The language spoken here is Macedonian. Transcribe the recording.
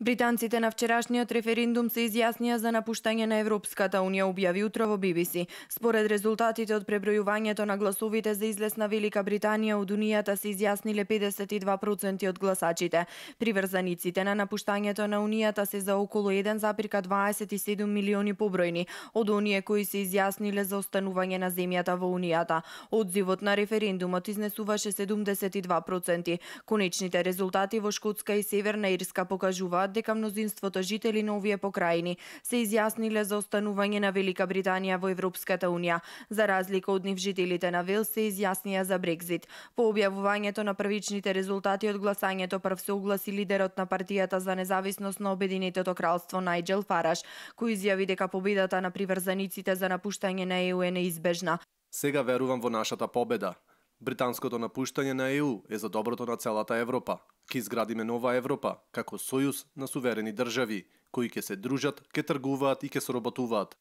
Британците на вчерашниот референдум се изјаснија за напуштање на Европската унија, објави утро во BBC. Според резултатите од пребројувањето на гласовите за излез на Велика Британија од Унијата се изјасниле 52% од гласачите. Приврзаниците на напуштањето на Унијата се за околу 1,27 милиони побројни од оние кои се изјасниле за останување на земјата во Унијата. Одзивот на референдумот изнесуваше 72%. Конечните резултати во Шкотска и Северна Ирска покажуваат дека мнозинството жители на овие покрајни се изјасниле за останување на Велика Британија во Европската унија. За разлика од нив, жителите на Велс се изјаснија за Брекзит. По објавувањето на првичните резултати од гласањето прв се огласи лидерот на партијата за независност на Обединетото кралство Најџел Фараш, кој изјави дека победата на приврзаниците за напуштање на ЕУ е неизбежна. Сега верувам во нашата победа. Британското напуштање на ЕУ е за доброто на целата Европа. Ке изградиме нова Европа, како сојуз на суверени држави, кои ќе се дружат, ќе тргуваат и ќе соработуваат.